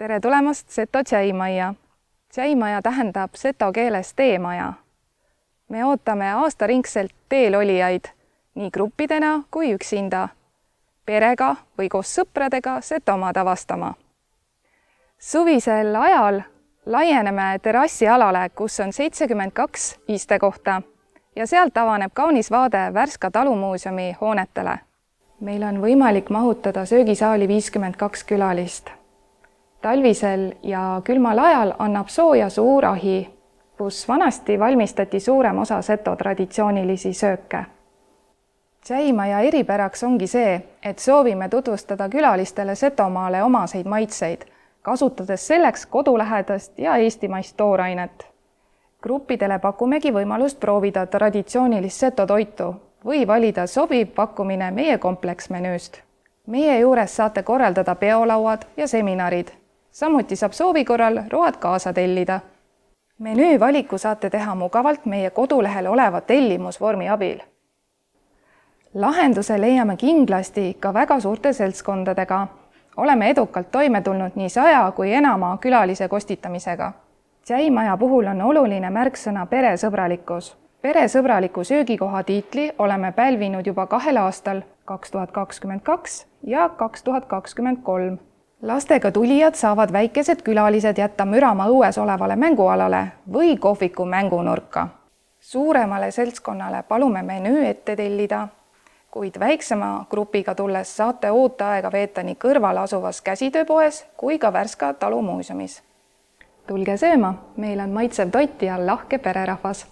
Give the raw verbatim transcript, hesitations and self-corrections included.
tere tulemast Seto tšäimajja. Tšäimaja tähendab seto keeles teemaja. Me ootame aastaringselt teel olijaid, nii gruppidena kui üksinda, perega või koos sõpradega Setomaad avastama. Suvisel ajal laieneme terrassialale, kus on seitsekümmend kaks istekohta ja sealt avaneb kaunis vaade Värska talumuuseumi hoonetele. Meil on võimalik mahutada söögisaali viiskümmend kaks külalist. Talvisel ja külmal ajal annab sooja suur ahi, kus vanasti valmistati suurem osa seto traditsioonilisi sööke. Tšäimaja eripäraks ongi see, et soovime tutvustada külalistele Setomaale omaseid maitseid, kasutades selleks kodulähedast ja eestimaist toorainet. Gruppidele pakumegi võimalust proovida traditsioonilist seto toitu või valida sobiv pakkumine meie kompleksmenüüst. Meie juures saate korraldada peolauad ja seminarid. Samuti saab soovi korral road kaasa tellida. Menüü valiku saate teha mugavalt meie kodulehel oleva tellimusvormi abil. Lahenduse leiame kindlasti ka väga suurte seltskondadega. Oleme edukalt toime tulnud nii saja kui enama külalise kostitamisega. Tšäimaja puhul on oluline märksõna peresõbralikkus. Peresõbraliku söögikoha tiitli oleme pälvinud juba kahel aastal, kaks tuhat kakskümmend kaks ja kaks tuhat kakskümmend kolm. Lastega tulijad saavad väikesed külalised jätta mürama õues olevale mängualale või kohviku mängunurka. Suuremale seltskonnale palume menüü ette tellida, kuid väiksema grupiga tulles saate ooteaega veeta nii kõrval asuvas käsitööpoes kui ka Värska talumuuseumis. Tulge sööma, meil on maitsev toit ja lahke pererahvas.